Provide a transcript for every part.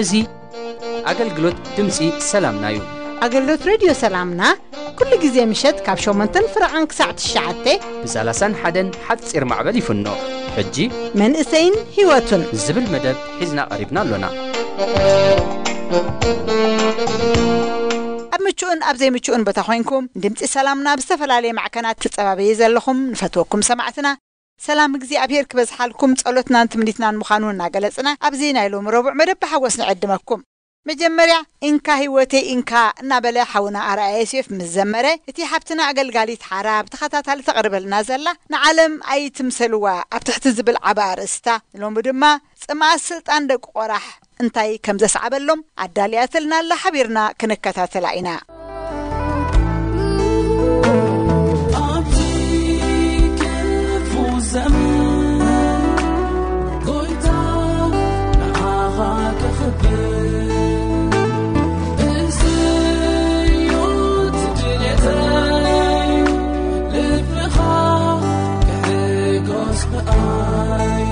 እዚ ኣገልግሎት ድምፂ ሰላምና እዩ። ኣገልግሎት ሬድዮ ሰላምና ኩሉ ግዜ ምሸት ካብ ሸሞንተን ፍረቓን ክሳዕ ትሽዓተ ብ ሰላሳን ሓደን ሓፂር ማዕበል ይፍኖ። ሕጂ መንእሰይን ህይወቱን ዝብል መደብ ሒዝና ቀሪብና ኣሎና። ኣብ ምቹእን ኣብ ዘይምቹእን ቦታ ኮይንኩም ድምፂ ሰላምና ብዝተፈላለየ ማዕከናት ትጸባበዩ ዘለኹም ንፈትወኩም ሰማዕትና፣ ሰላም እግዚኣብሔር ክበዝሓልኩም ጸሎትናን ትምኒትናን ምዃኑ እናገለጽና፣ ኣብዚ ናይ ሎሚ ረቡዕ መደብ ብሓጎስ ንዕድመኩም። መጀመርያ፣ እንካ ህይወተይ እንካ እናበለ ሓውና ኣርኣያ ዮሴፍ ምስ ዘመረ፣ እቲ ሓብትና ኣገልጋሊት ሓራ ብተኸታታሊ ተቕርበልና ዘላ ንዓለም ኣይትምሰልዋ ኣብ ትሕቲ ዝብል ዓቢ ኣርእስታ፣ ንሎሚ ድማ ጽምኣት ስልጣን ደቂ ቆራሕ እንታይ ከም ዘስዓበሎም ኣዳልያትልና ኣላ፣ ሓቢርና ክንከታተላ ኢና። ኣብዚ ክፉ ዘመን ጎይታ ንዓኻ ከኽብር እዚ እዩ እቲ ድሌተይ፣ ልብኻ ክሕጎስ ብኣይ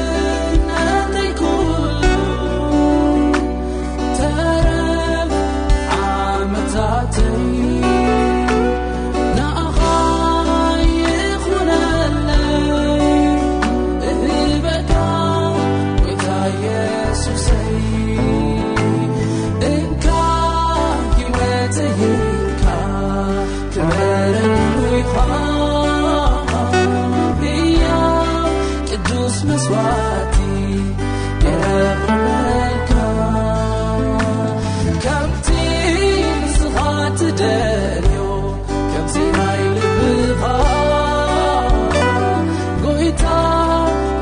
ንስነተይ ኩሉ ተረፍ ዓመታተይ ንኣኻ ይኹነለይ እህበካ ጎይታ ኢየሱሰይ። እንካ ህይወተይ እንካ ክብርን ይኹን ህያው ቅዱስ መስዋዕቲ የቕርበልካ። ከምቲ ንስኻ ትደልዮ፣ ከምቲ ናይ ልብኻ ጎይታ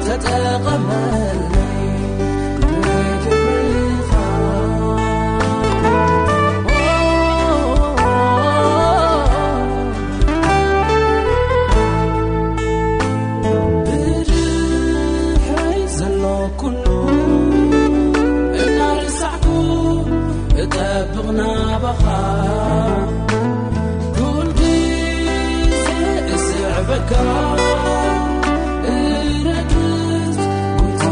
ተጠቐመለይ ንክብርኻ። ብድሕረይ ዘሎ ኩሉ እናረሳዕኩ እጠብቕ ናባኻ፣ ኩል ግዜ እስዕበካ፣ እረግጽ ጎይታ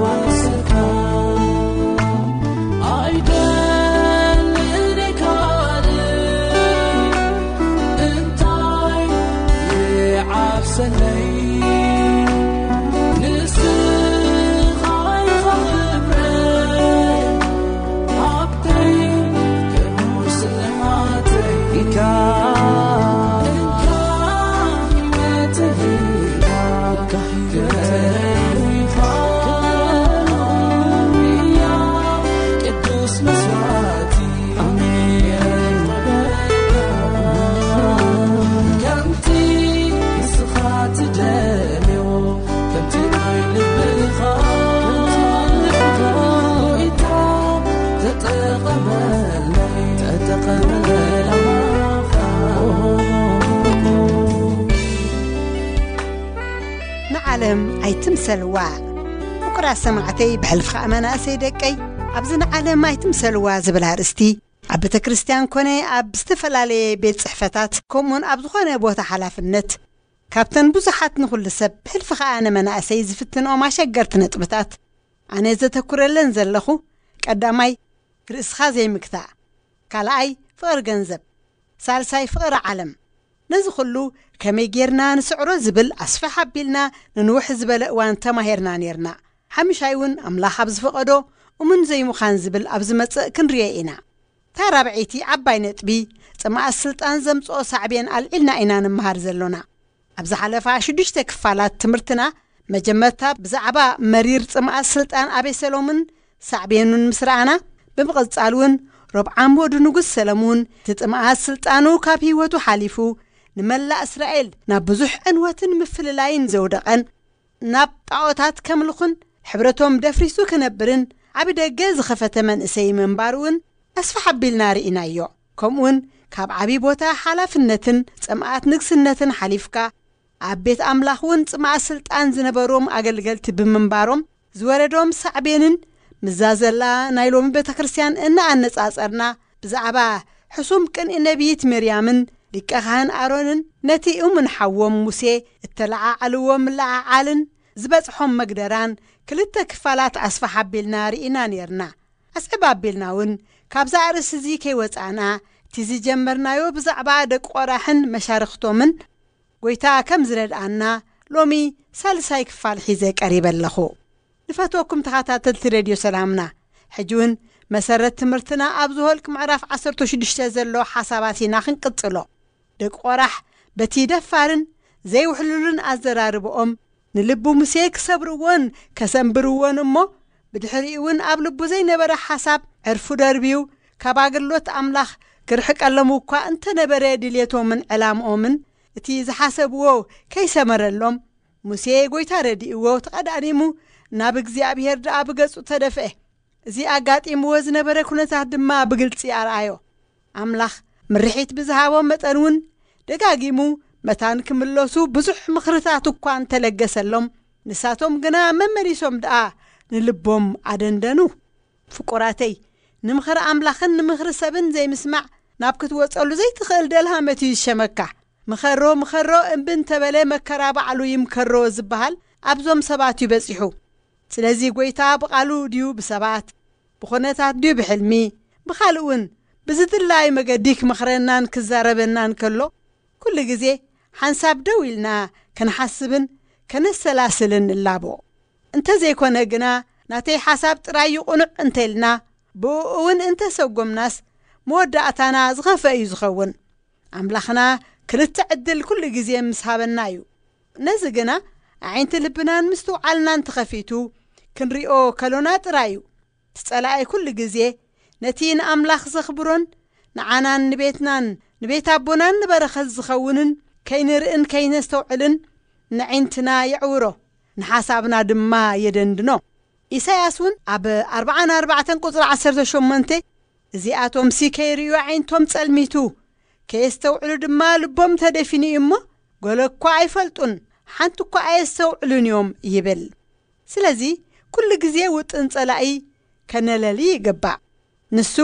ባሰልካ። ኣይደልን ካልእ እንታይ ይዓብሰለይ፣ ንስኻ ኢኻ ክብረይ፣ ሃብተይ፣ ክቡር ስልማተይ። እንካ ህይወተይ፣ እንካ ህይወተይ፣ ቅዱስ መስዋዕቲ። ኣሜን። ከምቲ ንስኻ ትደልዮ፣ ከምቲ ናይ ልብኻ፣ ጎይታ ተጠቐመለይ፣ ተጠቐመለይ። ንዓለም ኣይትምሰልዋ። ፍቁራት ሰማዕተይ፣ ብሕልፊ ኸኣ መናእሰይ ደቀይ፣ ኣብዚ ንዓለም ኣይትምሰልዋ ዝብል ኣርእስቲ ኣብ ቤተ ክርስቲያን ኮነ ኣብ ዝተፈላለየ ቤት ጽሕፈታት፣ ከምኡውን ኣብ ዝኾነ ቦታ ሓላፍነት፣ ካብተን ብዙሓት ንኹሉ ሰብ፣ ብሕልፊ ኸኣ ንመናእሰይ ዝፍትንኦም ኣሸገርቲ ነጥብታት፣ ኣነ ዘተኩረለን ዘለኹ፣ ቀዳማይ፣ ርእስኻ ዘይምግታእ፣ ካልኣይ፣ ፍቕሪ ገንዘብ፣ ሳልሳይ፣ ፍቕሪ ዓለም። ነዚ ኹሉ ከመይ ጌርና ንስዕሮ ዝብል ኣስፍሕ ኣቢልና ንንውሕ ዝበለ እዋን ተማሂርና ኔርና። ሓምሻይ እውን ኣምላኽ ኣብ ዝፈቐዶ እሙን ዘይምዃን ዝብል ኣብ ዝመጽእ ክንርዮ ኢና። እታ ራብዐይቲ ዓባይ ነጥቢ፣ ጽምኣት ስልጣን ዘምጽኦ ሳዕቤን ኣልዒልና ኢና ንምሃር ዘሎና። ኣብ ዝሓለፋ ሽዱሽተ ክፋላት ትምህርትና፣ መጀመርታ ብዛዕባ መሪር ጽምኣት ስልጣን ኣቤሰሎምን ሳዕቤኑን ምስ ረኣና፣ ብምቕጻል እውን ሮብዓም ወዲ ንጉስ ሰለሙን እቲ ጽምኣት ስልጣኑ ካብ ህይወቱ ሓሊፉ ንመላእ እስራኤል ናብ ብዙሕ ዕንወትን ምፍልላይን ዘውደቐን፣ ናብ ጣዖታት ከምልኹን ሕብረቶም ደፍሪሱ ክነብርን ዓቢ ደገ ዝኸፈተ መንእሰይ ምንባሩ እውን ኣስፍሕ ኣቢልና ርኢናዮ። ከምኡውን ካብ ዓቢ ቦታ ሓላፍነትን ጽምኣት ንግስነትን ሓሊፍካ ኣብ ቤት ኣምላኽ እውን ጽማእ ስልጣን ዝነበሮም ኣገልገልቲ ብምንባሮም ዝወረዶም ሳዕቤንን፣ ምዛ ዘላ ናይ ሎሚ ቤተ ክርስቲያን እናኣነጻጸርና፣ ብዛዕባ ሕሱም ቅንኢ ነቢይት መርያምን ሊቀ ካህን ኣሮንን ነቲ እሙን ሓዎም ሙሴ እተለዓዓልዎ ምልዓዓልን ዝበጽሖም መግደራን ክልተ ክፋላት ኣስፋሕ ኣቢልና ርኢና ኔርና። ኣስዕብ ኣቢልና እውን ካብዛ ኣርእስቲ እዚ ከይወጻእና፣ እቲ ዝጀመርናዮ ብዛዕባ ደቂ ቆራሕን መሻርኽቶምን ጎይታ ከም ዝረድኣና ሎሚ ሳልሳይ ክፋል ሒዘ ቀሪበ ኣለኹ። ንፈትወኩም ተኸታተልቲ ሬድዮ ሰላምና፣ ሕጂ እውን መሰረት ትምህርትና ኣብ ዝሆልቅ ምዕራፍ ዓሰርተ ሽዱሽተ ዘሎ ሓሳባት ኢና ክንቅጽሎ። ደቂ ቆራሕ በቲ ደፋርን ዘይውሕሉልን ኣዘራርብኦም ንልቡ ሙሴ ክሰብርዎን ከሰንብርዎን እሞ፣ ብድሕሪኡ እውን ኣብ ልቡ ዘይነበረ ሓሳብ ዕርፉ ደርብዩ ካብ ኣገልግሎት ኣምላኽ ክርሕቀሎም እኳ እንተነበረ፣ ድልየቶምን ዕላምኦምን እቲ ዝሓሰብዎ ከይሰመረሎም፣ ሙሴ ጎይታ ረዲእዎ ተቐዳዲሙ ናብ እግዚኣብሔር ደኣ ብገጹ ተደፍአ። እዚ ኣጋጢምዎ ዝነበረ ኩነታት ድማ ብግልጺ ኣርኣዮ። ኣምላኽ ምርሒት ብዝሃቦም መጠን እውን ደጋጊሙ መታን ክምለሱ ብዙሕ ምኽርታት እኳ እንተለገሰሎም፣ ንሳቶም ግና መመሊሶም ደኣ ንልቦም ኣደንደኑ። ፍቁራተይ፣ ንምኽሪ ኣምላኽን ንምኽሪ ሰብን ዘይምስማዕ ናብ ክትወጸሉ ዘይትኽእል ደልሃመት እዩ ዝሸመካ። ምኸሮ ምኸሮ እምቢ እንተበለ መከራ ባዕሉ ይምከሮ ዝበሃል ኣብዞም ሰባት እዩ በጺሑ። ስለዚ ጎይታ ብቓሉ ድዩ ብሰባት፣ ብኹነታት ድዩ ብሕልሚ፣ ብኻልእ እውን ብዝድላይ መገዲ ክመኽረናን ክዛረበናን ከሎ፣ ኩሉ ግዜ ሓንሳብ ደው ኢልና ከንሓስብን ከነሰላስልን ንላቦ። እንተዘይኮነ ግና፣ ናተይ ሓሳብ ጥራይ እዩ ቅኑዕ እንተ ኢልና፣ ብእኡ እውን እንተሰጎምናስ፣ መወዳእታና ዝኸፍአ እዩ ዝኸውን። ኣምላኽና ክልተ ዕድል ኩሉ ግዜ ምስ ሃበና እዩ። ነዚ ግና ኣዒንቲ ልብናን ምስትውዓልናን ተኸፊቱ ክንሪኦ ከሎና ጥራይ እዩ። እቲ ጸላኢ ኩሉ ግዜ ነቲ ንኣምላኽ ዘኽብሮን ንዓናን ንቤትናን ንቤት ኣቦናን ንበረኸት ዝኸውንን ከይንርእን ከይነስተውዕልን ንዒንትና የዕውሮ፣ ንሓሳብና ድማ የደንድኖ። ኢሳያስ እውን ኣብ ኣርብዓን ኣርባዕተን ቁጽሪ ዓሰርተ ሸሞንተ፣ "እዚኣቶምሲ ከይርእዩ ኣዒንቶም ጸልሚቱ፣ ከየስተውዕሉ ድማ ልቦም ተደፊኑ እዩ እሞ፣ ገለ እኳ ኣይፈልጡን፣ ሓንቲ እኳ ኣየስተውዕሉን እዮም" ይብል። ስለዚ፣ ኩሉ ግዜ ውጥን ጸላኢ ከነለሊ ይግባእ። ንሱ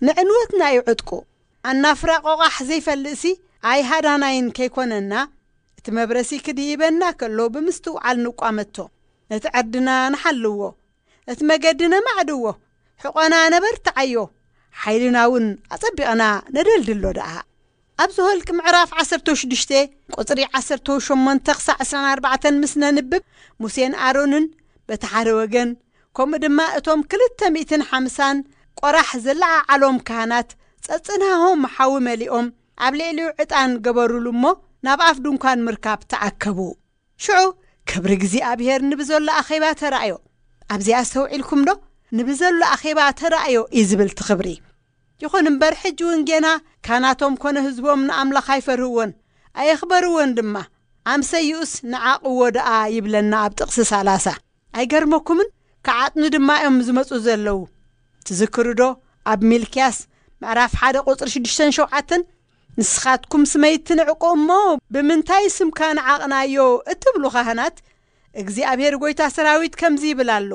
ንዕንወትና እዩ ዕጥቁ። ኣናፍራ ቆቓሕ ዘይፈልጥሲ ኣይሃዳናይን ከይኮነና፣ እቲ መብረሲ ክድይበና ከሎ ብምስትውዓል ንቋመቶ። ነቲ ዕርድና ንሓልዎ፣ እቲ መገዲ ነማዕድዎ፣ ሕቖና ነበርትዓዮ፣ ሓይልና እውን ኣጸቢቕና ነደልድሎ ደኣ። ኣብ ዘኍልቅ ምዕራፍ ዓሰርተ ሽዱሽተ ቁጽሪ ዓሰርተ ሸሞንተ ክሳዕ ዕስራን ኣርባዕተን ምስ ነንብብ፣ ሙሴን ኣሮንን በቲ ሓደ ወገን፣ ከምኡ ድማ እቶም ክልተ ሚእትን ሓምሳን ቆራሕ ዘለዓዓሎም ካህናት ጸጽንሃሆም ሓዊ መሊኦም ኣብ ልዕሊኡ ዕጣን ገበሩሉ እሞ ናብ ኣፍ ድንኳን ምርካብ ተኣከቡ። ሽዑ ክብሪ እግዚኣብሔር ንብዘሎ ኣኼባ ተራእዮ። ኣብዚኣ ኣስተውዒልኩም ዶ? ንብዘሎ ኣኼባ ተራእዮ እዩ ዝብል እቲ ክብሪ። ይኹን እምበር ሕጂ እውን ጌና ካህናቶም ኮነ ህዝቦም ንኣምላኽ ኣይፈርህዎን፣ ኣየኽበርዎን ድማ። ኣምሰይኡስ ንዓቕዎ ደኣ ይብለና ኣብ ጥቕሲ ሰላሳ። ኣይገርመኩምን? ክዓጥኑ ድማ እዮም ዝመጹ ዘለዉ። ትዝክሩ ዶ? ኣብ ሚልክያስ ምዕራፍ ሓደ ቁጽሪ ሽዱሽተን ሸውዓተን፣ "ንስኻትኩም ስመይ ትንዕቁ እሞ ብምንታይ ስምካ ንዓቕናዮ?" እትብሉ ካህናት፣ እግዚኣብሔር ጐይታ ሰራዊት ከምዚ ይብል ኣሎ፣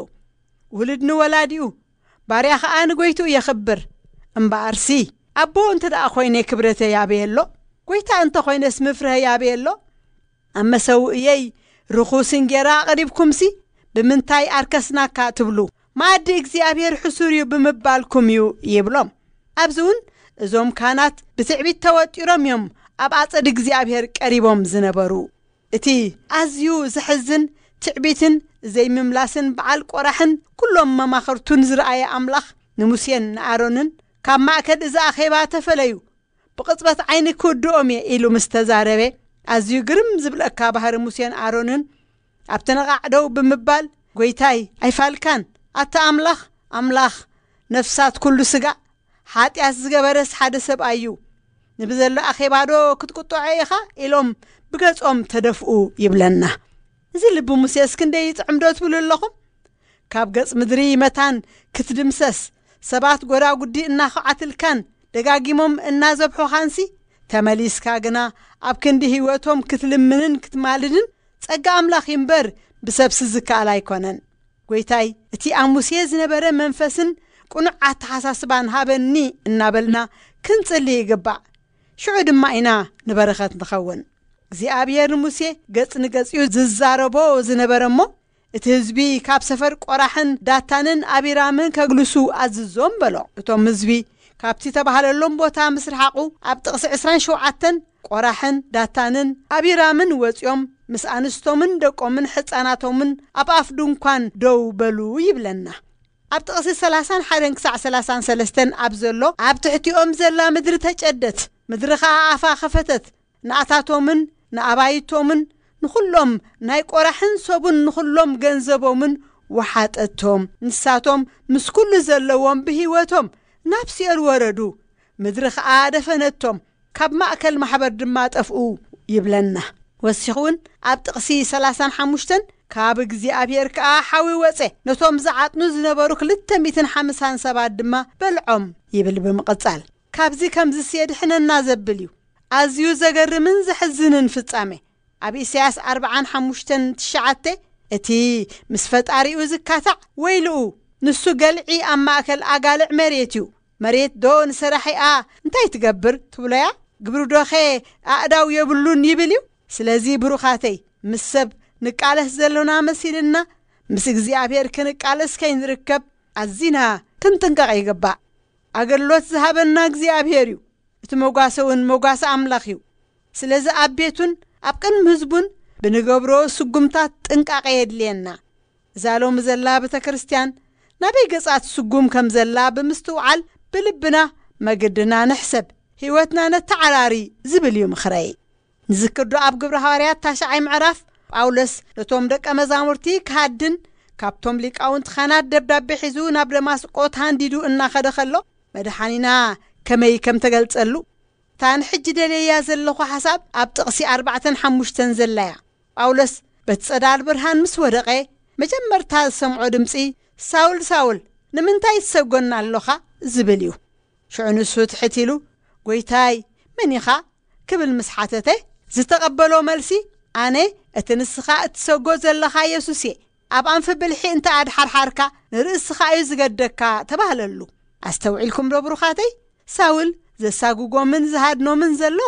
"ውሉድ ንወላዲኡ፣ ባርያ ኸኣ ንጐይትኡ የኽብር። እምበኣርሲ፣ ኣቦ እንተ ደኣ ኾይነ ክብረተይ ኣበይ ኣሎ? ጐይታ እንተ ኾይነስ ምፍርሀይ ኣበይ ኣሎ? ኣብ መሰውእየይ ርኹስ እንጌራ ኣቕሪብኩምሲ፣ ብምንታይ ኣርከስናካ?" ትብሉ። መኣዲ እግዚኣብሔር ሕሱር እዩ ብምባልኩም እዩ ይብሎም። ኣብዚ እውን እዞም ካህናት ብትዕቢት ተወጢሮም እዮም ኣብ ኣጸድ እግዚኣብሔር ቀሪቦም ዝነበሩ። እቲ ኣዝዩ ዘሕዝን ትዕቢትን ዘይምምላስን በዓል ቆራሕን ኩሎም መማኽርቱን ዝረኣየ ኣምላኽ ንሙሴን ንኣሮንን፣ "ካብ ማእከል እዚ ኣኼባ ተፈለዩ፣ ብቕጽበት ዓይኒ ክውድኦም እየ" ኢሉ ምስ ተዛረበ፣ ኣዝዩ ግርም ዝብለካ ባህሪ ሙሴን ኣሮንን፣ ኣብቲ ነቓዕ ደው ብምባል፣ "ጐይታይ፣ ኣይፋልካን? ኣታ ኣምላኽ፣ ኣምላኽ ነፍሳት ኩሉ ስጋ፣ ሓጢኣት ዝገበረስ ሓደ ሰብኣይ እዩ። ንብዘሎ ኣኼባዶ ክትቁጥዖ ኢኻ?" ኢሎም ብገጾም ተደፍኡ ይብለና። እዚ ልቢ ሙሴስ ክንደይ ይጥዕም ዶ ትብሉ ኣለኹም? ካብ ገጽ ምድሪ መታን ክትድምሰስ፣ ሰባት ጐዳጉዲ እናኹዓትልካን ደጋጊሞም እናዘብሑኻንሲ፣ ተመሊስካ ግና ኣብ ክንዲ ህይወቶም ክትልምንን ክትማልድን ጸጋ ኣምላኽ እምበር ብሰብሲ ዝከኣል ኣይኮነን። ጎይታይ፣ እቲ ኣብ ሙሴ ዝነበረ መንፈስን ቅኑዕ ኣተሓሳስባን ሃበኒ እናበልና ክንጽሊ ይግባእ። ሽዑ ድማ ኢና ንበረኸት ንኸውን። እግዚኣብሔር ንሙሴ ገጽ ንገጽ እዩ ዝዛረቦ ዝነበረ እሞ፣ እቲ ህዝቢ ካብ ሰፈር ቆራሕን ዳታንን ኣቢራምን ከግልሱ ኣዝዞም በሎ። እቶም ህዝቢ ካብቲ ተባህለሎም ቦታ ምስ ረሓቑ፣ ኣብ ጥቕሲ ዕስራን ሸውዓተን ቆራሕን ዳታንን ኣቢራምን ወጺኦም ምስ ኣንስቶምን ደቆምን ሕፃናቶምን ኣብ ኣፍ ድንኳን ደው በሉ ይብለና። ኣብ ጥቕሲ ሰላሳን ሓደን ክሳዕ ሰላሳን ሰለስተን ኣብ ዘሎ፣ ኣብ ትሕቲኦም ዘላ ምድሪ ተጨደት፣ ምድሪ ኸኣ ኣፋ ኸፈተት፣ ንኣታቶምን ንኣባይቶምን ንኹሎም ናይ ቆራሕን ሰቡን ንኹሎም ገንዘቦምን ወሓጠቶም። ንሳቶም ምስ ኩሉ ዘለዎም ብህይወቶም ናብ ሲኦል ወረዱ። ምድሪ ኸኣ ደፈነቶም፣ ካብ ማእከል ማሕበር ድማ ጠፍኡ ይብለና። ወሲኹ እውን ኣብ ጥቕሲ ሰላሳን ሓሙሽተን፣ ካብ እግዚኣብሔር ከኣ ሓዊ ወጸ፣ ነቶም ዝዓጥኑ ዝነበሩ ክልተ ሚእትን ሓምሳን ሰባት ድማ በልዖም ይብል ብምቕጻል። ካብዚ ከምዚስ የድሕነና ዘብል እዩ። ኣዝዩ ዘገርምን ዘሕዝንን ፍጻሜ። ኣብ ኢሳያስ ኣርብዓን ሓሙሽተን ትሽዓተ፣ እቲ ምስ ፈጣሪኡ ዝካታዕ ወይልኡ፣ ንሱ ገልዒ ኣብ ማእከል ኣጋልዕ መሬት እዩ። መሬት ዶ ንሰራሒኣ እንታይ ትገብር ትብሎያ? ግብሪ ዶኸ ኣእዳው የብሉን ይብል እዩ። ስለዚ ብሩኻተይ፣ ምስ ሰብ ንቃለስ ዘሎና መሲልና፣ ምስ እግዚኣብሔር ክንቃለስ ከይንርከብ ኣዚና ክንጥንቀቕ ይግባእ። ኣገልግሎት ዝሃበና እግዚኣብሔር እዩ። እቲ መጓሰ እውን መጓሰ ኣምላኽ እዩ። ስለዚ ኣብ ቤቱን ኣብ ቅድሚ ህዝቡን ብንገብሮ ስጉምታት ጥንቃቐ የድልየና። እዛ ሎሚ ዘላ ቤተ ክርስቲያን ናበይ ገጻት ስጉም ከም ዘላ ብምስትውዓል ብልብና መገድና ንሕሰብ፣ ህይወትና ነተዓራሪ ዝብል እዩ ምኽረይ። ንዝክር ዶ ኣብ ግብሪ ሃዋርያት ታሽዓይ ምዕራፍ ጳውሎስ ነቶም ደቀ መዛሙርቲ ክሃድን ካብቶም ሊቃውንቲ ካህናት ደብዳቤ ሒዙ ናብ ደማስቆ ተሃንዲዱ እናኸደ ከሎ መድሓኒና ከመይ ከም ተገልጸሉ? እታ ንሕጂ ደለያ ዘለኹ ሓሳብ ኣብ ጥቕሲ ኣርባዕተን ሓሙሽተን ዘላያ። ጳውሎስ በቲ ጸዳል ብርሃን ምስ ወደቐ መጀመርታ ዝሰምዖ ድምጺ፣ "ሳውል፣ ሳውል፣ ንምንታይ ትሰጎና ኣሎኻ?" ዝብል እዩ። ሽዑ ንሱ ትሕት ኢሉ፣ "ጎይታይ፣ መን ኢኻ?" ክብል ምስ ሓተተ፣ ዝተቐበሎ መልሲ፣ "ኣነ እቲ ንስኻ እትሰጎ ዘለኻ የሱስ እየ። ኣብ ኣንፊ ብልሒ እንተ ኣድሓርሓርካ፣ ንርእስኻ እዩ ዝገደካ" ተባህለሉ። ኣስተውዒልኩም ዶ ብሩኻተይ? ሳውል ዘሳጉጎምን ዝሃድኖምን ዘሎ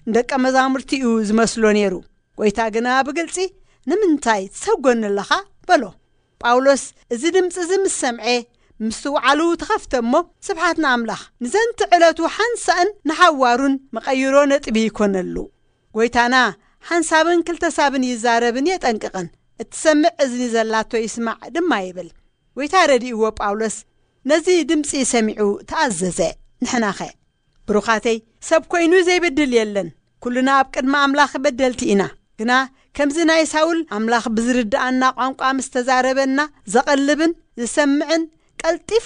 ንደቀ መዛሙርቲ እዩ ዝመስሎ ነይሩ። ጎይታ ግና ብግልጺ፣ "ንምንታይ ትሰጎኒ ኣለኻ?" በሎ። ጳውሎስ እዚ ድምጺ እዚ ምስ ሰምዐ፣ ምስትውዓሉ ተኸፍተ እሞ፣ ስብሓት ንኣምላኽ፣ ንዘንቲ ዕለቱ ሓንሳእን ንሓዋሩን መቐይሮ ነጥቢ ይኮነሉ። ጎይታና ሓንሳብን ክልተሳብን ይዛረብን የጠንቅቕን፣ "እትሰምዕ እዝኒ ዘላቶ ይስማዕ" ድማ ይብል። ጎይታ ረዲእዎ ጳውሎስ ነዚ ድምጺ ሰሚዑ ተኣዘዘ። ንሕናኸ? ብሩኻተይ፣ ሰብ ኮይኑ ዘይበድል የለን። ኩልና ኣብ ቅድሚ ኣምላኽ በደልቲ ኢና። ግና ከምዚ ናይ ሳውል ኣምላኽ ብዝርድኣና ቋንቋ ምስ ተዛረበና፣ ዘቐልብን ዝሰምዕን ቀልጢፉ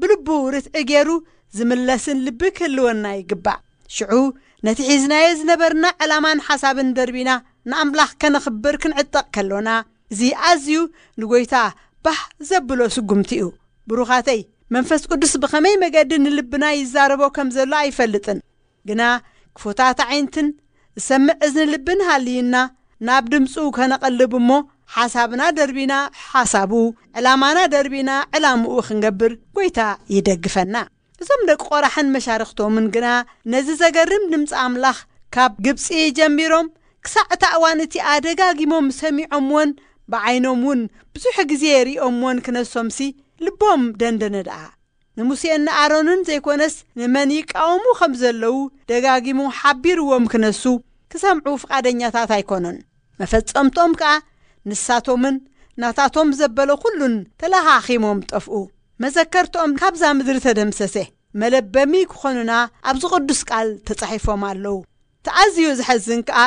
ብልቡ ርትዒ ገይሩ ዝምለስን ልቢ ክህልወና ይግባእ። ሽዑ ነቲ ሒዝናዮ ዝነበርና ዕላማን ሓሳብን ደርቢና ንኣምላኽ ከነኽብር ክንዕጠቕ ከሎና፣ እዚ ኣዝዩ ንጎይታ ባህ ዘብሎ ስጉምቲ እዩ። ብሩኻተይ፣ መንፈስ ቅዱስ ብኸመይ መገዲ ንልብና ይዛረቦ ከም ዘሎ ኣይፈልጥን። ግና ክፉታት ኣዒንትን ዝሰምዕ እዝኒ ልብን ሃልይና ናብ ድምፁ ከነቐልብ እሞ፣ ሓሳብና ደርቢና ሓሳቡ፣ ዕላማና ደርቢና ዕላምኡ ክንገብር ጎይታ ይደግፈና። እዞም ደቂ ቆራሕን መሻርኽቶምን ግና ነዚ ዘገርም ድምፂ ኣምላኽ ካብ ግብፂ ጀሚሮም ክሳዕ እታ እዋን እቲኣ ደጋጊሞም ሰሚዖምዎን ብዓይኖም እውን ብዙሕ ግዜ ሪኦምዎን ክነሶምሲ ልቦም ደንደነ ደኣ። ንሙሴን ንኣሮንን ዘይኮነስ ንመን ይቃወሙ ከም ዘለዉ ደጋጊሙ ሓቢርዎም ክነሱ ክሰምዑ ፍቓደኛታት ኣይኮኑን። መፈጸምቶም ከኣ ንሳቶምን ናታቶም ዘበለ ኩሉን ተለኻኺሞም ጠፍኡ። መዘከርትኦም ካብዛ ምድሪ ተደምሰሰ። መለበሚ ክኾኑና ኣብዚ ቅዱስ ቃል ተጻሒፎም ኣለዉ። እቲ ኣዝዩ ዘሐዝን ከኣ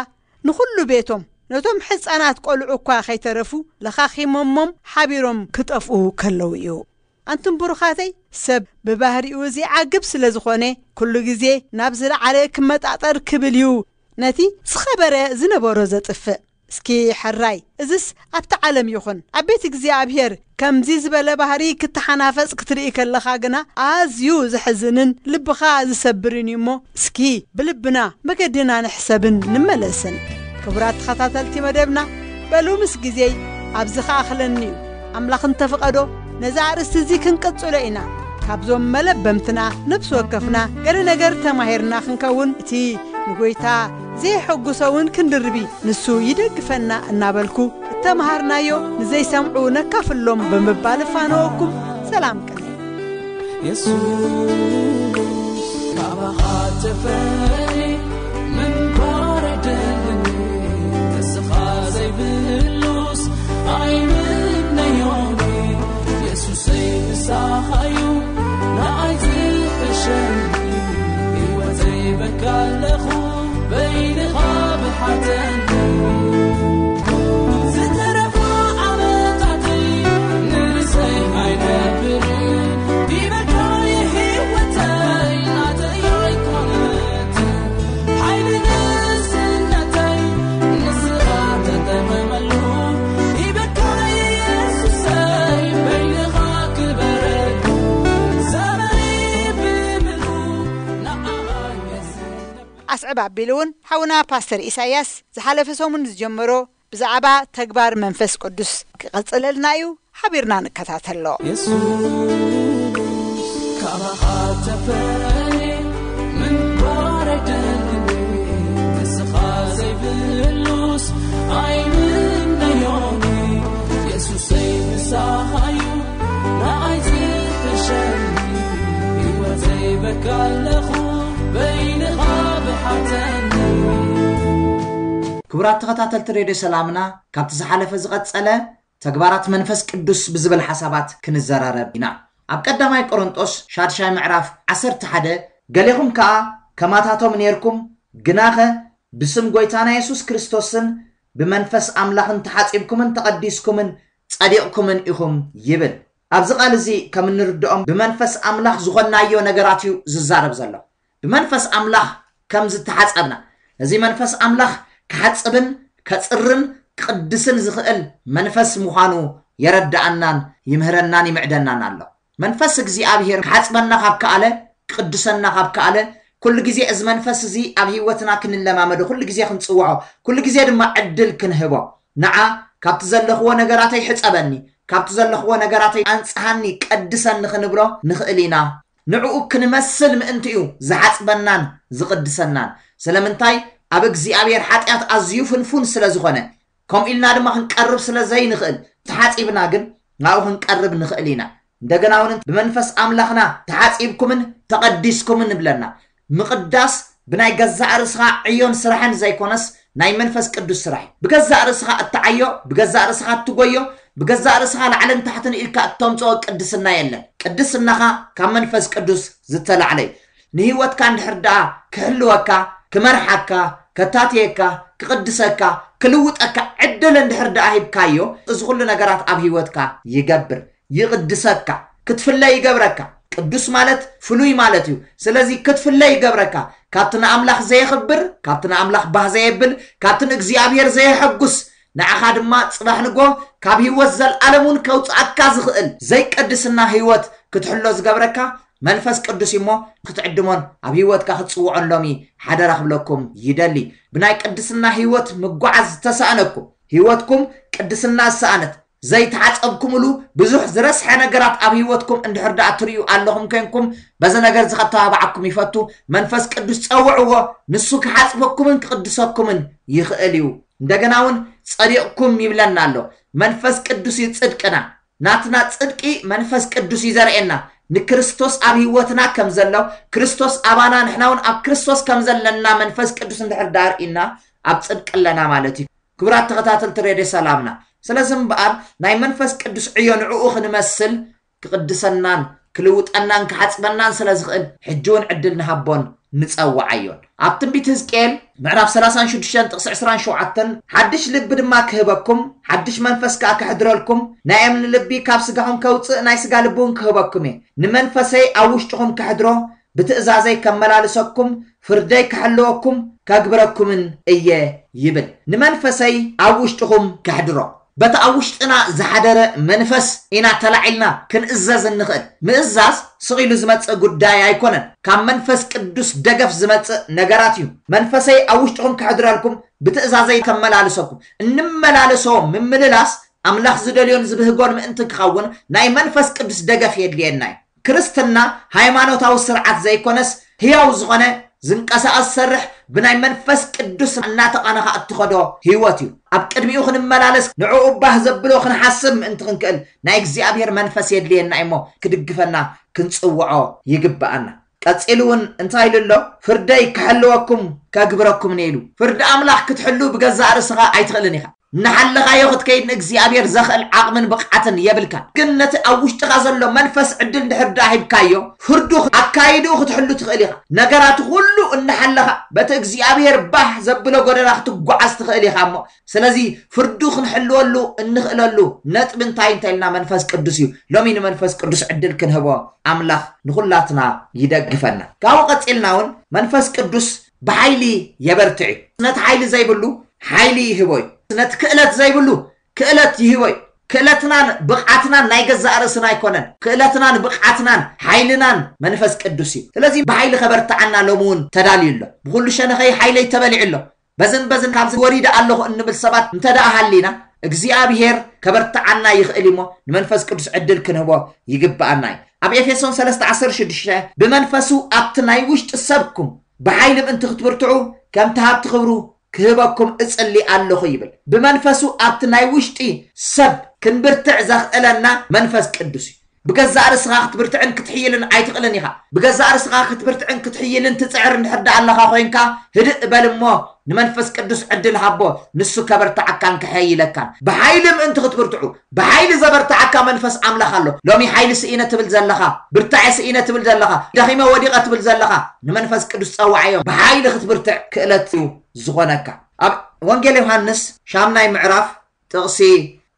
ንኹሉ ቤቶም፣ ነቶም ሕጻናት ቆልዑ እኳ ከይተረፉ ለኻኺሞሞም ሓቢሮም ክጠፍኡ ከለዉ እዩ። ኣንቱም ብሩኻተይ፣ ሰብ ብባህሪኡ ዘይዓግብ ስለ ዝኾነ፣ ኩሉ ግዜ ናብ ዝለዓለ ክመጣጠር ክብል እዩ ነቲ ዝኸበረ ዝነበሮ ዘጥፍእ። እስኪ ሕራይ፣ እዝስ ኣብቲ ዓለም ይኹን ኣብ ቤት እግዚኣብሔር ከምዚ ዝበለ ባህሪ ክተሓናፈጽ ክትርኢ ከለኻ ግና ኣዝዩ ዘሕዝንን ልብኻ ዝሰብርን እዩ እሞ፣ እስኪ ብልብና መገድና ንሕሰብን ንመለስን። ክቡራት ተኸታተልቲ መደብና፣ በሉ ምስ ግዜይ ኣብዚ ኸኣኽለኒ እዩ። ኣምላኽ እንተፍቐዶ፣ ነዛ ኣርእስቲ እዚ ክንቅጽሎ ኢና። ካብዞም መለበምትና ነፍሲ ወከፍና ገለ ነገር ተማሂርና ክንከውን፣ እቲ ንጎይታ ዘየሐጉሶ እውን ክንድርቢ ንሱ ይደግፈና እናበልኩ፣ እተምሃርናዮ ንዘይሰምዑ ነካፍሎም ብምባል እፋነወኩም። ሰላም ቅነ። የሱስ ካባኻ ተፈልየ ምንባር ኣይደልን፣ ንስኻ ዘይብሉስ ኣይምነዮን። የሱሰይ ምሳኻዩ ንዓይ ዝሕሸኒ፣ ህይወተይ በካ ኣለኹ በይንኻ ብሓተኒ። ዝተረፋ ዓመታተይ ንርእሰይ ኣይነብርን፣ ዲበካ የህይወተይ ናተይ ኣይኮነትን። ሓይሊ ንእስነተይ ንስኻ ተጠቐመሉ፣ ዲበካ የሱሰይ በይንኻ ክበረሉ። ዘመነይ ብምሉ ንዓኻ የዝነብ። ኣስዕብ ኣቢሉ እውን ሓውና ፓስተር ኢሳያስ ዝሓለፈ ሰሙን ዝጀመሮ ብዛዕባ ተግባር መንፈስ ቅዱስ ክቐጽለልና እዩ። ሓቢርና ንከታተሎ። የሱስ ካባኻ ተፈልየ ምንባር ኣይደልን፣ ንስኻ ዘይብሉስ ኣይምነዮን። የሱሰይ ምሳኻዩ ንዓይ ዝሕሸኒ፣ ህይወተይ በካ ኣለኹ በይንኻ ብሓተኒ። ክቡራት ተኸታተልቲ ሬድዮ ሰላምና፣ ካብቲ ዝሓለፈ ዝቐጸለ ተግባራት መንፈስ ቅዱስ ብዝብል ሓሳባት ክንዘራረብ ኢና። ኣብ ቀዳማይ ቆሮንጦስ ሻድሻይ ምዕራፍ ዓሰርተ ሓደ፣ ገሌኹም ከኣ ከማታቶም ኔርኩም፣ ግናኸ ብስም ጐይታና የሱስ ክርስቶስን ብመንፈስ ኣምላኽን ተሓጺብኩምን ተቐዲስኩምን ጸዲቕኩምን ኢኹም ይብል። ኣብዚ ቃል እዚ ከም እንርድኦም ብመንፈስ ኣምላኽ ዝኾንናዮ ነገራት እዩ ዝዛረብ ዘሎ። ብመንፈስ ኣምላኽ ከም ዝተሓጸብና፣ ነዚ መንፈስ ኣምላኽ ክሓጽብን ከጽርን ክቕድስን ዝኽእል መንፈስ ምዃኑ የረድኣናን ይምህረናን ይምዕደናን ኣሎ። መንፈስ እግዚኣብሔር ክሓጽበና ካብ ከኣለ፣ ክቕድሰና ካብ ከኣለ፣ ኩሉ ግዜ እዚ መንፈስ እዚ ኣብ ህይወትና ክንለማመዶ፣ ኩሉ ግዜ ክንጽውዖ፣ ኩሉ ግዜ ድማ ዕድል ክንህቦ፣ ንዓ ካብቲ ዘለኽዎ ነገራተይ ሕጸበኒ፣ ካብቲ ዘለኽዎ ነገራተይ ኣንጽሃኒ፣ ቀድሰኒ ክንብሎ ንኽእል ኢና። ንዕኡ ክንመስል ምእንቲ እዩ ዝሓጽበናን ዝቕድሰናን። ስለምንታይ? ኣብ እግዚኣብሔር ሓጢኣት ኣዝዩ ፍንፉን ስለ ዝኾነ፣ ከምኡ ኢልና ድማ ክንቀርብ ስለ ዘይንኽእል፣ ተሓጺብና ግን ናብኡ ክንቀርብ ንኽእል ኢና። እንደገና እውን ብመንፈስ ኣምላኽና ተሓጺብኩምን ተቐዲስኩምን ንብለና። ምቕዳስ ብናይ ገዛእ ርእስኻ ዕዮን ስራሕን ዘይኮነስ ናይ መንፈስ ቅዱስ ስራሕ እዩ። ብገዛእ ርእስኻ እትዓዮ፣ ብገዛእ ርእስኻ እትጎዮ፣ ብገዛእ ርእስኻ ላዕልን ታሕትን ኢልካ እተምጽኦ ቅድስና የለን። ቅድስናኻ ካብ መንፈስ ቅዱስ ዝተላዕለ እዩ። ንህይወትካ እንድሕር ደኣ ክሕልወካ፣ ክመርሓካ፣ ከታትየካ፣ ክቕድሰካ፣ ክልውጠካ ዕድል እንድሕር ደኣ ሂብካዮ፣ እዚ ኩሉ ነገራት ኣብ ህይወትካ ይገብር፣ ይቕድሰካ፣ ክትፍለ ይገብረካ። ቅዱስ ማለት ፍሉይ ማለት እዩ። ስለዚ ክትፍለ ይገብረካ። ካብቲ ንኣምላኽ ዘየኽብር፣ ካብቲ ንኣምላኽ ባህ ዘየብል፣ ካብቲ ንእግዚኣብሔር ዘየሐጉስ፣ ንዓኻ ድማ ጽባሕ ንጎ ካብ ህይወት ዘልኣለም እውን ከውጽኣካ ዝኽእል ዘይቅድስና ህይወት ክትሕሎ ዝገብረካ መንፈስ ቅዱስ እዩ እሞ ክትዕድሞን ኣብ ህይወትካ ክትጽውዖን ሎሚ ሓደራ ክብለኩም ይደሊ። ብናይ ቅድስና ህይወት ምጓዓዝ ዝተሳእነኩም፣ ህይወትኩም ቅድስና ዝሰኣነት፣ ዘይተሓጸብኩምሉ ብዙሕ ዝረስሐ ነገራት ኣብ ህይወትኩም እንድሕር ደኣ ትርእዩ ኣለኹም ኮንኩም፣ በዚ ነገር እዚ ከተባብዓኩም ይፈቱ። መንፈስ ቅዱስ ጸውዕዎ፣ ንሱ ክሓጽበኩምን ክቕድሰኩምን ይኽእል እዩ። እንደገና እውን ጸዲቕኩም ይብለና ኣሎ። መንፈስ ቅዱስ እዩ ጽድቅና። ናትና ጽድቂ መንፈስ ቅዱስ እዩ ዘርእየና። ንክርስቶስ ኣብ ህይወትና ከም ዘሎ፣ ክርስቶስ ኣባና፣ ንሕና እውን ኣብ ክርስቶስ ከም ዘለና መንፈስ ቅዱስ እንድሕር ደኣ ኣርኢና፣ ኣብ ጽድቂ ኣለና ማለት እዩ። ክቡራት ተኸታተልቲ ሬድዮ ሰላምና፣ ስለዚ እምበኣር ናይ መንፈስ ቅዱስ ዕዮ ንዕኡ ክንመስል ክቕድሰናን ክልውጠናን ክሓጽበናን ስለ ዝኽእል፣ ሕጂ እውን ዕድል ንሃቦን ንጸውዓዮን። ኣብ ትንቢት ህዝቅኤል ምዕራፍ ሰላሳን ሽዱሽተን ጥቕሲ ዕስራን ሸውዓተን፣ ሓድሽ ልቢ ድማ ክህበኩም፣ ሓድሽ መንፈስ ከኣ ከሕድረልኩም፣ ናይ እምኒ ልቢ ካብ ስጋኹም ከውጽእ፣ ናይ ስጋ ልቢ እውን ክህበኩም እየ። ንመንፈሰይ ኣብ ውሽጥኹም ከሕድሮ፣ ብትእዛዘይ ከመላልሰኩም፣ ፍርደይ ክሕልወኩም፣ ከግብረኩምን እየ ይብል። ንመንፈሰይ ኣብ ውሽጥኹም ከሕድሮ። በቲ ኣብ ውሽጥና ዝሓደረ መንፈስ ኢና ተላዒልና ክንእዘዝ እንኽእል። ምእዛዝ ስቕ ኢሉ ዝመጽእ ጉዳይ ኣይኮነን። ካብ መንፈስ ቅዱስ ደገፍ ዝመጽእ ነገራት እዩ። መንፈሰይ ኣብ ውሽጥኹም ከሕድረልኩም፣ ብትእዛዘይ ከመላልሰኩም። እንመላለሶ ምምልላስ ኣምላኽ ዝደልዮን ዝብህጎን ምእንቲ ክኸውን ናይ መንፈስ ቅዱስ ደገፍ የድልየና እዩ። ክርስትና ሃይማኖታዊ ስርዓት ዘይኮነስ፣ ህያው ዝኾነ ዝንቀሳቐስ ዝሰርሕ፣ ብናይ መንፈስ ቅዱስ እናተቐነኻ እትኸዶ ህይወት እዩ። ኣብ ቅድሚኡ ክንመላለስ፣ ንዕኡ ባህ ዘብሎ ክንሓስብ ምእንቲ ክንክእል ናይ እግዚኣብሔር መንፈስ የድልየና እሞ፣ ክድግፈና ክንጽውዖ ይግብኣና። ቀጺሉ እውን እንታይ ኢሉ ኣሎ? "ፍርደይ ክሕልወኩም ከግብረኩምን" ኢሉ። ፍርዲ ኣምላኽ ክትሕሉ ብገዛእ ርእስኻ ኣይትኽእልን ኢኻ። እናሓለኻዮ ክትከይድ ንእግዚኣብሔር ዘኽእል ዓቕምን ብቕዓትን የብልካን። ግን ነቲ ኣብ ውሽጥኻ ዘሎ መንፈስ ዕድል እንድሕር ደኣ ሂብካዮ፣ ፍርዱ ኣካይድኡ ክትሕሉ ትኽእል ኢኻ። ነገራት ኩሉ እናሓለኻ በቲ እግዚኣብሔር ባህ ዘብሎ ጎደና ክትጓዓዝ ትኽእል ኢኻ እሞ። ስለዚ ፍርዱ ክንሕልወሉ እንኽእለሉ ነጥቢ እንታይ እንተ ኢልና መንፈስ ቅዱስ እዩ። ሎሚ ንመንፈስ ቅዱስ ዕድል ክንህቦ ኣምላኽ ንኹላትና ይደግፈና። ካብኡ ቀጺልና እውን መንፈስ ቅዱስ ብሓይሊ የበርትዕ እዩ። ነቲ ሓይሊ ዘይብሉ ሓይሊ ይህቦ እዩ። ነቲ ክእለት ዘይብሉ ክእለት ይህቦ እዩ። ክእለትናን ብቕዓትናን ናይ ገዛእ ርእስና ኣይኮነን። ክእለትናን ብቕዓትናን ሓይልናን መንፈስ ቅዱስ እዩ። ስለዚ ብሓይሊ ከበርትዓና ሎሚ እውን ተዳልዩ ኣሎ። "ብኹሉ ሸነኸይ ሓይለይ ተበሊዑ ኣሎ፣ በዝን በዝን ካብዚ ወሪደ ኣለኹ" እንብል ሰባት እንተ ደኣ ሃሊና፣ እግዚኣብሔር ከበርትዓና ይኽእል እሞ፣ ንመንፈስ ቅዱስ ዕድል ክንህቦ ይግብኣና እዩ። ኣብ ኤፌሶን ሰለስተ ዓሰርተ ሽዱሽተ፣ "ብመንፈሱ ኣብቲ ናይ ውሽጢ ሰብኩም ብሓይሊ ምእንቲ ክትብርትዑ፣ ከምቲ ሃብቲ ክብሩ ክህበኩም እጽሊ ኣለኹ" ይብል። ብመንፈሱ ኣብቲ ናይ ውሽጢ ሰብ ክንብርትዕ ዘኽእለና መንፈስ ቅዱስ እዩ። ብገዛእ ርእስኻ ክትብርትዕን ክትሕይልን ኣይትኽእልን ኢኻ። ብገዛእ ርእስኻ ክትብርትዕን ክትሕይልን ትጽዕር እንድሕር ደኣ ኣለኻ ኮይንካ፣ ህድእ በል እሞ ንመንፈስ ቅዱስ ዕድል ሃቦ፣ ንሱ ከበርትዓካን ከሐይለካን። ብሓይሊ ምእንቲ ክትብርትዑ፣ ብሓይሊ ዘበርትዓካ መንፈስ ኣምላኽ ኣሎ። ሎሚ ሓይሊ ስኢነ ትብል ዘለኻ፣ ብርታዐ ስኢነ ትብል ዘለኻ፣ ደኺመ ወዲቐ ትብል ዘለኻ፣ ንመንፈስ ቅዱስ ጸውዓዮ። ብሓይሊ ክትብርትዕ ክእለት እዩ ዝኾነካ። ኣብ ወንጌል ዮሃንስ ሻምናይ ምዕራፍ ጥቕሲ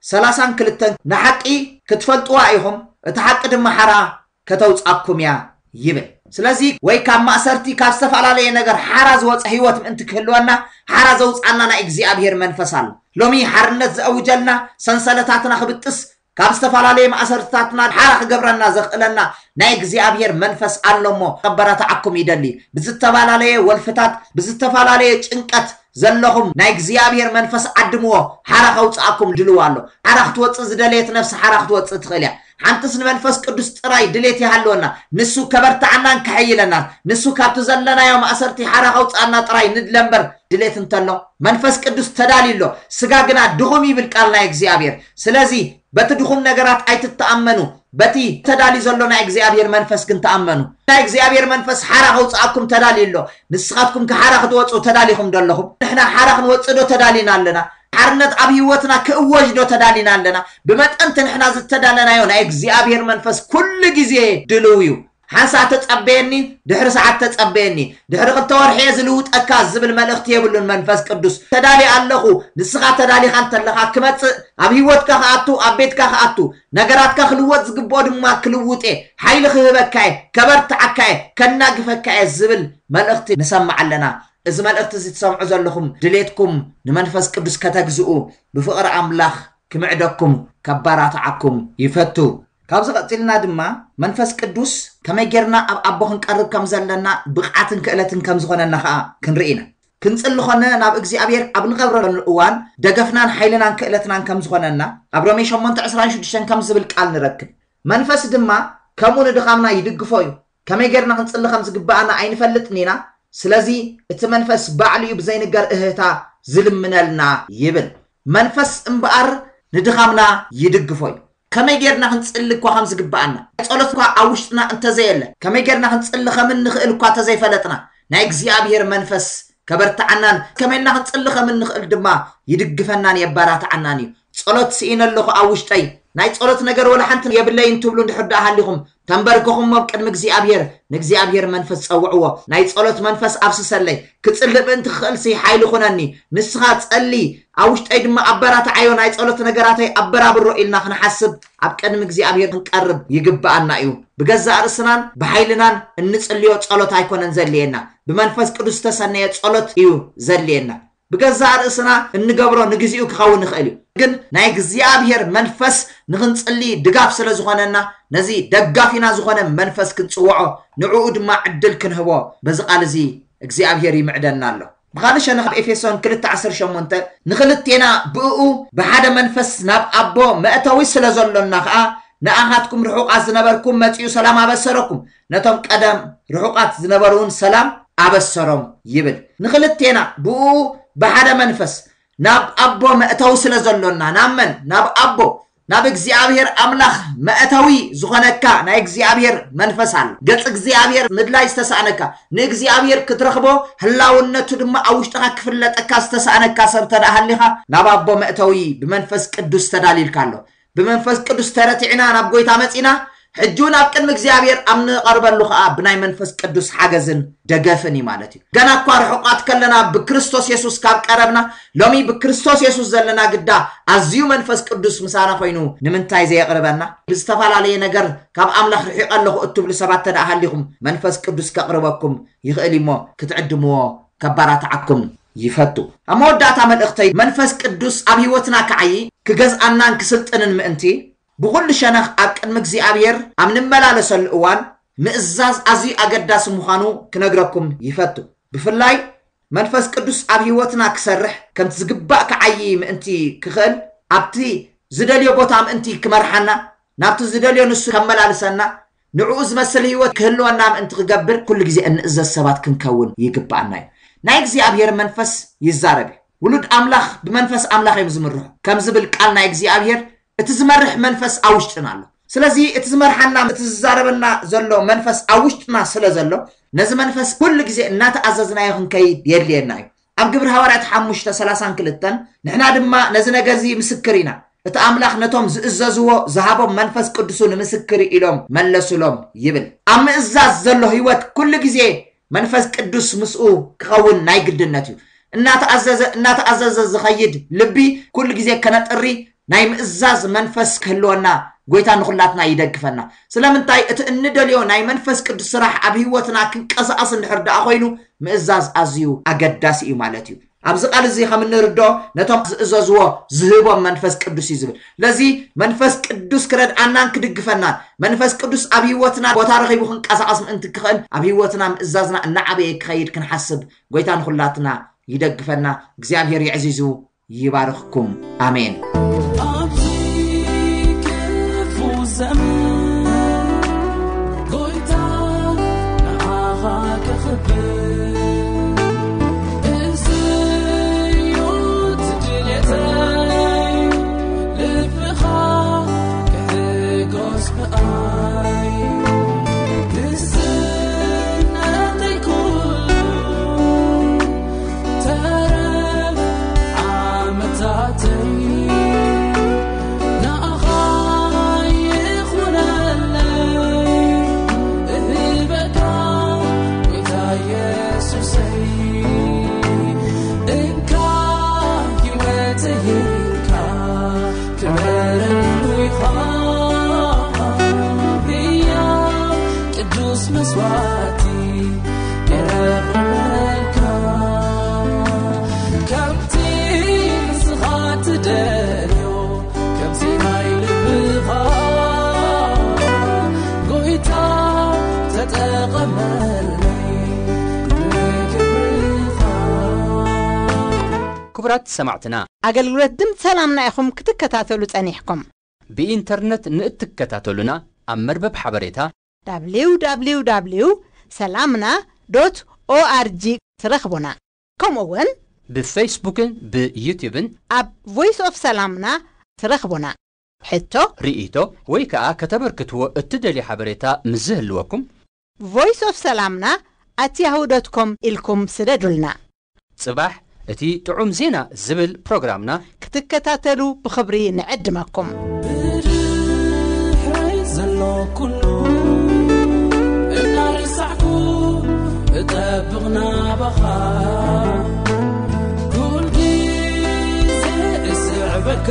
ሰላሳን ክልተን፣ "ንሓቂ ክትፈልጥዋ ኢኹም፣ እቲ ሓቂ ድማ ሓራ ከተውጻኩም እያ" ይብል። ስለዚ ወይ ካብ ማእሰርቲ፣ ካብ ዝተፈላለየ ነገር ሓራ ዝወጸ ህይወት ምእንቲ ክህልወና፣ ሓራ ዘውጻና ናይ እግዚኣብሔር መንፈስ ኣሎ። ሎሚ ሓርነት ዘእውጀልና፣ ሰንሰለታትና ክብጥስ፣ ካብ ዝተፈላለየ ማእሰርትታትና ሓራ ክገብረና ዘኽእለና ናይ እግዚኣብሔር መንፈስ ኣሎ እሞ ከበረታዓኩም ይደሊ። ብዝተፈላለየ ወልፍታት፣ ብዝተፈላለየ ጭንቀት ዘለኹም ናይ እግዚኣብሔር መንፈስ ዓድምዎ፣ ሓራ ከውፅኣኩም ድልው ኣሎ። ሓራ ክትወፅእ ዝደለየት ነፍሲ ሓራ ክትወፅእ ትኽእል እያ። ሓንትስ ንመንፈስ ቅዱስ ጥራይ ድሌት ይሃልወና። ንሱ ከበርትዓናን ከሐይለናን፣ ንሱ ካብቲ ዘለናዮ ማእሰርቲ ሓራ ከውፅኣና ጥራይ ንድለ እምበር ድሌት እንተሎ፣ መንፈስ ቅዱስ ተዳልዩ ኣሎ፣ ስጋ ግና ድኹም ይብል ቃል ናይ እግዚኣብሔር። ስለዚ በቲ ድኹም ነገራት ኣይትተኣመኑ፣ በቲ ተዳልዩ ዘሎ ናይ እግዚኣብሔር መንፈስ ግን ተኣመኑ። ናይ እግዚኣብሔር መንፈስ ሓራ ከውፅኣኩም ተዳልዩ ኣሎ። ንስኻትኩም ከ ሓራ ክትወፅኡ ተዳሊኹም ዶ ኣለኹም? ንሕና ሓራ ክንወፅእ ዶ ተዳሊና ኣለና? ሓርነት ኣብ ህይወትና ክእወጅ ዶ ተዳሊና ኣለና? ብመጠንቲ ንሕና ዝተዳለናዮ ናይ እግዚኣብሔር መንፈስ ኩሉ ግዜ ድልው እዩ። ሓንሳእ ተጸበየኒ፣ ድሕሪ ሰዓት ተጸበየኒ፣ ድሕሪ ክልተ ወርሒ እየ ዝልውጠካ ዝብል መልእኽቲ የብሉን መንፈስ ቅዱስ። ተዳልየ ኣለኹ፣ ንስኻ ተዳሊኻ እንተለኻ ክመጽእ፣ ኣብ ህይወትካ ክኣቱ፣ ኣብ ቤትካ ክኣቱ፣ ነገራትካ ክልወጥ ዝግብኦ ድማ ክልውጥ እየ፣ ሓይሊ ክህበካ እየ፣ ከበርትዓካ እየ፣ ከናግፈካ እየ ዝብል መልእኽቲ ንሰምዕ ኣለና። እዚ መልእኽቲ እዚ ትሰምዑ ዘለኹም ድሌትኩም ንመንፈስ ቅዱስ ከተግዝኡ ብፍቕሪ ኣምላኽ ክምዕደኩም ከባራትዓኩም ይፈቱ። ካብዚ ቀጺልና ድማ መንፈስ ቅዱስ ከመይ ጌርና ኣብ ኣቦ ክንቀርብ ከም ዘለና ብቕዓትን ክእለትን ከም ዝኾነና ኸኣ ክንርኢ ኢና። ክንጽሊ ኾነ ናብ እግዚኣብሔር ኣብ ንቐርበሉ እዋን ደገፍናን ሓይልናን ክእለትናን ከም ዝኾነና ኣብ ሮሜ ሸሞንተ ዕስራን ሽዱሽተን ከም ዝብል ቃል ንረክብ። መንፈስ ድማ ከምኡ ንድኻምና ይድግፎ እዩ። ከመይ ጌርና ክንጽሊ ከም ዝግብኣና ኣይንፈልጥን ኢና። ስለዚ እቲ መንፈስ ባዕሉ እዩ ብዘይንገር እህህታ ዝልምነልና ይብል። መንፈስ እምበኣር ንድኻምና ይድግፎ እዩ። ከመይ ጌርና ክንጽሊ እኳ ከም ዝግብኣና፣ ጸሎት እኳ ኣብ ውሽጥና እንተዘየለ፣ ከመይ ጌርና ክንጽሊ ከም እንኽእል እኳ እንተዘይፈለጥና፣ ናይ እግዚኣብሔር መንፈስ ከበርትዓናን ከመይ ኢልና ክንጽሊ ከም እንኽእል ድማ ይድግፈናን የባራትዓናን እዩ። ጸሎት ስኢነ ኣለኹ ኣብ ውሽጠይ፣ ናይ ጸሎት ነገር ወላ ሓንቲ የብለይን ትብሉ እንድሕር ደኣ ሃሊኹም፣ ተንበርክኹም ኣብ ቅድሚ እግዚኣብሔር፣ ንእግዚኣብሔር መንፈስ ጸውዕዎ። ናይ ጸሎት መንፈስ ኣፍስሰለይ፣ ክጽልእ ምእንቲ ክኽእልሲ ሓይሊ ኩነኒ። ንስኻ ጸሊ፣ ኣብ ውሽጠይ ድማ ኣበራትዓዮ፣ ናይ ጸሎት ነገራተይ ኣበራብሮ ኢልና ክንሓስብ ኣብ ቅድሚ እግዚኣብሔር ክንቀርብ ይግብኣና እዩ። ብገዛእ ርእስናን ብሓይልናን እንጽልዮ ጸሎት ኣይኮነን ዘድልየና፣ ብመንፈስ ቅዱስ ዝተሰነየ ጸሎት እዩ ዘድልየና። ብገዛእ ርእስና እንገብሮ ንግዚኡ ክኸውን ይኽእል እዩ፣ ግን ናይ እግዚኣብሔር መንፈስ ንኽንጽሊ ድጋፍ ስለ ዝኾነና፣ ነዚ ደጋፊና ዝኾነ መንፈስ ክንጽውዖ፣ ንዕኡ ድማ ዕድል ክንህቦ በዚ ቃል እዚ እግዚኣብሔር ይምዕደና ኣሎ። ብኻልእ ሸነኽ ኣብ ኤፌሶን ክልተ ዓሰርተ ሸሞንተ፣ ንኽልቴና ብእኡ ብሓደ መንፈስ ናብ ኣቦ መእተዊ ስለ ዘሎና ኸኣ፣ ንኣኻትኩም ርሑቓት ዝነበርኩም መጺኡ ሰላም ኣበሰረኩም፣ ነቶም ቀደም ርሑቓት ዝነበሩ እውን ሰላም ኣበሰሮም ይብል። ንኽልቴና ብእኡ ብሓደ መንፈስ ናብ ኣቦ መእተዊ ስለ ዘሎና፣ ናብ መን? ናብ ኣቦ፣ ናብ እግዚኣብሔር ኣምላኽ መእተዊ ዝኾነካ ናይ እግዚኣብሔር መንፈስ ኣሎ። ገጽ እግዚኣብሔር ምድላይ ዝተሳእነካ፣ ንእግዚኣብሔር ክትረኽቦ፣ ህላውነቱ ድማ ኣብ ውሽጥኻ ክፍለጠካ ዝተሳእነካ ሰብ እንተ ደኣ ሃሊኻ፣ ናብ ኣቦ መእተዊ ብመንፈስ ቅዱስ ተዳሊልካ ኣሎ። ብመንፈስ ቅዱስ ተረቲዕና ናብ ጐይታ መጺና፣ ሕጂ እውን ኣብ ቅድሚ እግዚኣብሔር ኣብ ንቐርበሉ ኸኣ ብናይ መንፈስ ቅዱስ ሓገዝን ደገፍን እዩ ማለት እዩ። ገና እኳ ርሑቓት ከለና ብክርስቶስ የሱስ ካብ ቀረብና፣ ሎሚ ብክርስቶስ የሱስ ዘለና ግዳ ኣዝዩ መንፈስ ቅዱስ ምሳና ኮይኑ ንምንታይ ዘየቕርበና? ብዝተፈላለየ ነገር ካብ ኣምላኽ ርሒቐ ኣለኹ እትብሉ ሰባት እንተ ደኣ ሃሊኹም፣ መንፈስ ቅዱስ ከቕርበኩም ይኽእል እዩ እሞ ክትዕድምዎ ከባራትዓኩም ይፈቱ። ኣብ መወዳእታ መልእኽተይ፣ መንፈስ ቅዱስ ኣብ ህይወትና ክዓዪ፣ ክገዝኣናን ክስልጥንን ምእንቲ፣ ብኹሉ ሸነኽ ኣብ ቅድሚ እግዚኣብሔር ኣብ ንመላለሰሉ እዋን ምእዛዝ ኣዝዩ ኣገዳሲ ምዃኑ ክነግረኩም ይፈቱ። ብፍላይ መንፈስ ቅዱስ ኣብ ህይወትና ክሰርሕ፣ ከምቲ ዝግባእ ክዓዪ ምእንቲ ክኽእል፣ ኣብቲ ዝደልዮ ቦታ ምእንቲ ክመርሓና፣ ናብቲ ዝደልዮ ንሱ ከመላልሰና፣ ንዕኡ ዝመስል ህይወት ክህልወና ምእንቲ ክገብር፣ ኩሉ ግዜ እንእዘዝ ሰባት ክንከውን ይግብኣና እዩ። ናይ እግዚኣብሔር መንፈስ ይዛረብ እዩ። ውሉድ ኣምላኽ ብመንፈስ ኣምላኽ እዮም ዝምርሑ። ከም ዝብል ቃል ናይ እግዚኣብሔር፣ እቲ ዝመርሕ መንፈስ ኣብ ውሽጥና ኣሎ። ስለዚ እቲ ዝመርሓና፣ እቲ ዝዛረበና ዘሎ መንፈስ ኣብ ውሽጥና ስለ ዘሎ፣ ነዚ መንፈስ ኩሉ ግዜ እናተኣዘዝናዮ ክንከይድ የድልየና እዩ። ኣብ ግብሪ ሃዋርያት ሓሙሽተ ሰላሳን ክልተን፣ ንሕና ድማ ነዚ ነገር እዚ ምስክር ኢና፣ እቲ ኣምላኽ ነቶም ዝእዘዝዎ ዝሃቦም መንፈስ ቅዱሱ ንምስክር ኢሎም መለሱሎም ይብል። ኣብ ምእዛዝ ዘሎ ህይወት ኩሉ ግዜ መንፈስ ቅዱስ ምስኡ ክኸውን ናይ ግድነት እዩ። እናተኣዘዘ፣ እናተኣዘዘ ዝኸይድ ልቢ ኩሉ ግዜ ከነጥሪ ናይ ምእዛዝ መንፈስ ክህልወና ጎይታ ንኹላትና ይደግፈና። ስለምንታይ? እቲ እንደልዮ ናይ መንፈስ ቅዱስ ስራሕ ኣብ ህይወትና ክንቀሳቐስ እንድሕር ደኣ ኮይኑ ምእዛዝ ኣዝዩ ኣገዳሲ እዩ ማለት እዩ። ኣብዚ ቃል እዚ ከም እንርድኦ ነቶም ዝእዘዝዎ ዝህቦም መንፈስ ቅዱስ እዩ ዝብል። ስለዚ መንፈስ ቅዱስ ክረድኣናን ክድግፈናን፣ መንፈስ ቅዱስ ኣብ ህይወትና ቦታ ረኺቡ ክንቀሳቐስ ምእንቲ ክኽእል ኣብ ህይወትና ምእዛዝና እናዓበየ ክኸይድ ክንሓስብ ጎይታ ንኹላትና ይደግፈና። እግዚኣብሔር የዕዚዙ ይባርኽኩም። ኣሜን። ኣብዚ ክፉ ዘመን ጎይታ ንዓኻ ክኽብር፣ እዚ እዩ እቲ ድሌተይ፣ ልብኻ ክሕጎስ ብኣይ። ንስነተይ ኩሉ ተረፍ ዓመታተይ ንኣኻ ይኹነለይ፣ እህበካ ጎይታ የሱሰይ። እንካ ህይወተይ እንካ ክበረሉ ኢኻ፣ ህያው ቅዱስ መስዋዕቲ የቕርበልካ። ከምቲ ንስኻ ትደልዮ፣ ከምቲ ናይ ልብኻ፣ ጎይታ ተጠቐመለይ ንክብርኻ። ክቡራት ሰማዕትና፣ ኣገልግሎት ድምፂ ሰላምና ኢኹም ክትከታተሉ ጸኒሕኩም። ብኢንተርነት ንእትከታተሉና፣ ኣብ መርበብ ሓበሬታ www ሰላምና ዶት ኦኣርጂ ትረኽቡና። ከምኡ እውን ብፌስቡክን ብዩትዩብን ኣብ ቮይስ ኦፍ ሰላምና ትረኽቡና። ሕቶ፣ ርኢቶ ወይ ከኣ ከተበርክትዎ እትደልዩ ሓበሬታ ምስ ዝህልወኩም፣ ቮይስ ኦፍ ሰላምና ኣት ያሁ ዶት ኮም ኢልኩም ስደዱልና። ጽባሕ እቲ ጥዑም ዜና ዝብል ፕሮግራምና ክትከታተሉ ብኽብሪ ንዕድመኩም። ብድምጺ ዘሎ ኩሉ እናረሳዕኩ እጠብቕ ናባኻ፣ ኩል ግዜ እስዕበካ።